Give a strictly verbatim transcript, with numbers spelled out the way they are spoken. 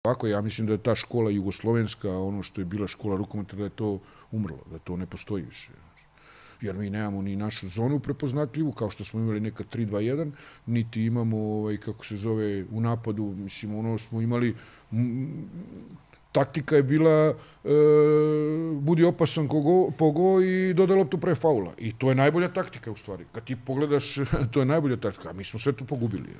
Ovako, ja mislim da je ta škola jugoslovenska, ono što je bila škola rukometa, da je to umrlo, da to ne postoji više. Jer mi nemamo ni našu zonu prepoznatljivu, kao što smo imali nekad tri dva jedan, niti imamo, ovaj, kako se zove, u napadu, mislim, ono smo imali, taktika je bila e, budi opasan kogo, pogo i dodaj loptu pre faula. I to je najbolja taktika, u stvari. Kad ti pogledaš, to je najbolja taktika, a mi smo sve to pogubili.